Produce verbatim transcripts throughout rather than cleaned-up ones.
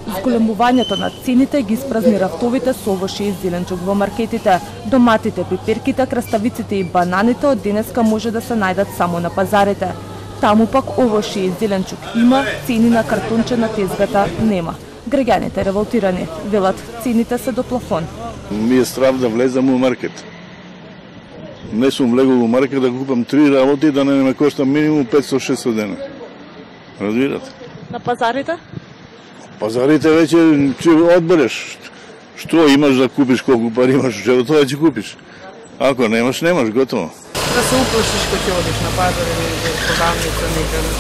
Зголемувањето на цените ги испразни рафтовите со овошје и зеленчук во маркетите. Доматите, пиперките, краставиците и бананите од денеска може да се најдат само на пазарите. Таму пак овошје и зеленчук има, цени на картонче на тезгата нема. Граѓаните револтирани, велат цените се до плафон. Ми е страв да влезам во маркет. Не сум влегол во маркет да купам три работи да не ме кошта минимум петстотини до шестстотини дена. Разбирате? На пазарите? Пазарите веќе ќе одбереш. Што имаш да купиш, колку пари имаш, што тоа ќе купиш. Ако немаш, немаш, готово. Да се уплашиш кога ќе одиш на пазар или во продавница некаде.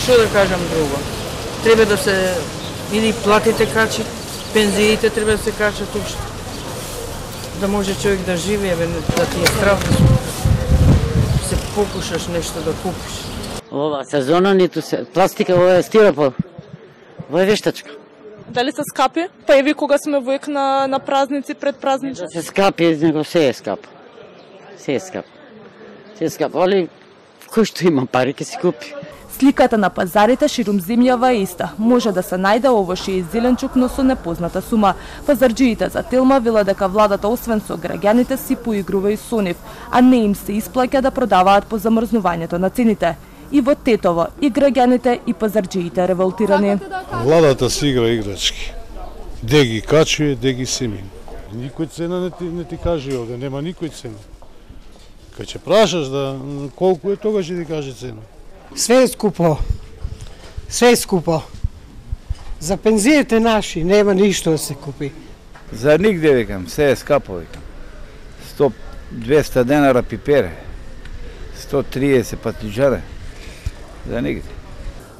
Што да кажам друго? Треба да се или платите качи, пензиите треба да се качат уште. Да може човек да живее, да ти е страв да се покушаш нешто да купиш. Ова сезона ниту се пластика, ова е стиропор. Ова е вештачка. Дали се скапи? Па еви кога сме во ек на, на празници, пред празници? Да се скапи, него се е скапо. Се е скапо. Се е скапо, али кој што има пари ќе си купи. Сликата на пазарите ширум земјава е иста. Може да се најде овошје и зеленчук, но со непозната сума. Пазарџиите за Телма вела дека владата освен со граѓаните си поигрува и со нив, а не им се исплаќа да продаваат по замрзнувањето на цените. И во Тетово и граѓаните и пазарџиите револтирани. Владата си игра играчки. Де ги качуе, де ги семи. Никој цена не ти, не ти каже овде, нема никој цена. Кај ќе прашаш да колку е, тогаш ќе ти каже цена. Све е скупо. Све е скупо. За пензиите наши нема ништо да се купи. За нигде, викам, се е скапо, викам. сто двеста денара пипере, сто триесет патиџаре. За нигде.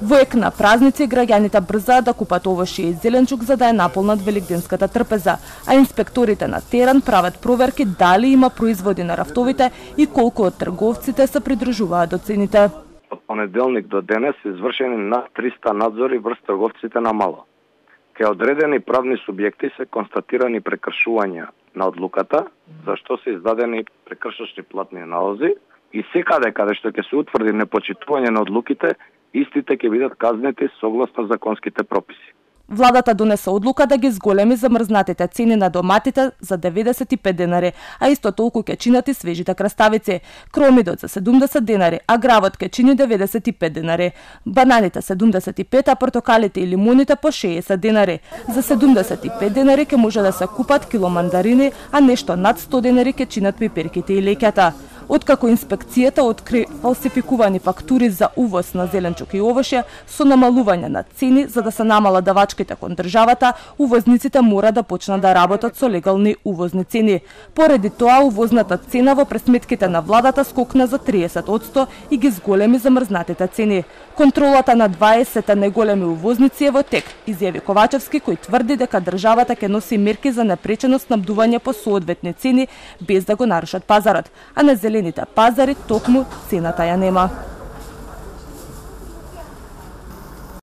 Во ек на празници граѓаните брзаат да купат овошје и зеленчук за да ја наполнат великденската трпеза, а инспекторите на терен прават проверки дали има производи на рафтовите и колку од трговците се придржуваат до цените. Од понеделник до денес се извршени над триста надзори врз трговците на мало. Кај одредени правни субјекти се констатирани прекршувања на одлуката, за што се издадени прекршачни платни налози и секаде каде што ќе се утврди непочитување на одлуките, истите ќе бидат казнети согласно законските прописи. Владата донесе одлука да ги зголеми замрзнатите цени на доматите за деветдесет и пет денари, а исто толку ќе чинат и свежите краставици. Кромидот за седумдесет денари, а гравот ќе чини деветдесет и пет денари. Бананите седумдесет и пет, а портокалите и лимуните по шеесет денари. За седумдесет и пет денари ќе може да се купат кило мандарини, а нешто над сто денари ќе чинат пиперките и леќата. Откако инспекцијата откри фалсификувани фактури за увоз на зеленчук и овошје со намалување на цени за да се намала давачките кон државата, увозниците мора да почнат да работат со легални увозни цени. Поради тоа увозната цена во пресметките на владата скокна за триесет одсто и ги зголеми замрзнатите цени. Контролата на дваесет најголеми увозници е во тек, изјави Ковачевски, кој тврди дека државата ќе носи мерки за непречено снабдување по соодветни цени без да го нарушат пазарот, а на зелените пазари токму цената ја нема.